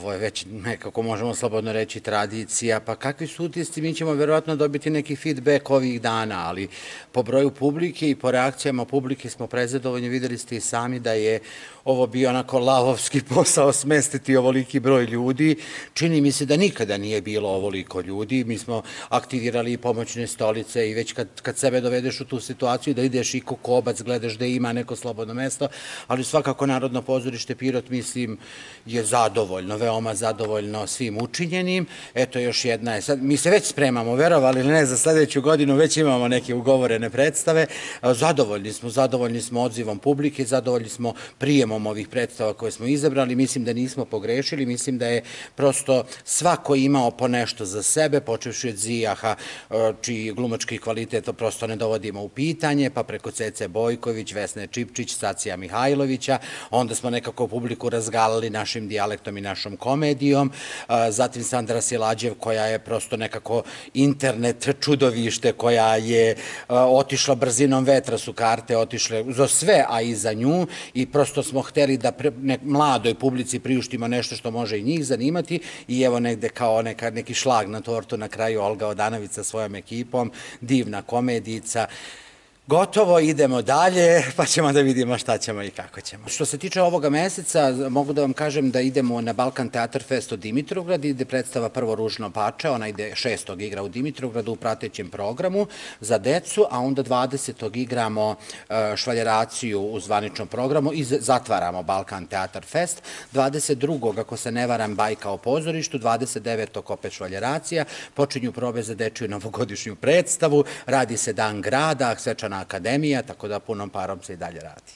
ovo je već nekako možemo slobodno reći tradicija, pa kakvi su utisci, mi ćemo verovatno dobiti neki feedback ovih dana, ali po broju publike i po reakcijama publike smo prezadovoljni, videli ste i sami da je ovo bio onako lavovski posao smestiti ovoliki broj ljudi, čini mi se da nikada nije bilo ovoliko ljudi, mi smo aktivirali i pomoćne stolice i već kad sebe dovedeš u tu situaciju da ideš i ko kobac, gledaš da ima neko slobodno mesto, ali svakako Narodno pozorište Pirot, mislim, je zadovoljno, veoma zadovoljno svim učinjenim. Eto, još jedna je, sad, mi se već spremamo, verovali ili ne, za sledeću godinu već imamo neke ugovorene predstave, zadovoljni smo odzivom publike, zadovoljni smo prijemom ovih predstava koje smo izabrali, mislim da nismo pogrešili, mislim da je prosto svako imao po nešto za sebe, počevši od Zijaha, čiji glumački kvalitet prosto ne dovodimo u pitanje, pa preko Cece Bojković, Vesne Čipčić, Sacija Mihajlovića, onda smo nekako publiku razgalili našim dijalektom i našom komedijom, zatim Sandra Silađev koja je prosto nekako internet čudovište, koja je otišla brzinom vetra, su karte otišle za sve, a i za nju, i prosto smo hteli da mladoj publici priuštimo nešto što može i njih zanimati, i evo negde kao neki šlag na tortu na kraju Olga Odanović sa svojom ekipom, divna komedijica. Gotovo, idemo dalje, pa ćemo da vidimo šta ćemo i kako ćemo. Što se tiče ovoga meseca, mogu da vam kažem da idemo na Balkan Teatar Fest u Dimitrovgrad, ide predstava prvo Ružno pače, ona ide 6. igra u Dimitrovgradu u pratećem programu za decu, a onda 20. igramo Švaljeraciju u zvaničnom programu i zatvaramo Balkan Teatar Fest. 22. ako se ne varam, Bajka o pozorištu, 29. opet Švaljeracija, počinju probe za dečiju novogodišnju predstavu, radi se Dan grada, svečana akademija, tako da punom parom se i dalje radi.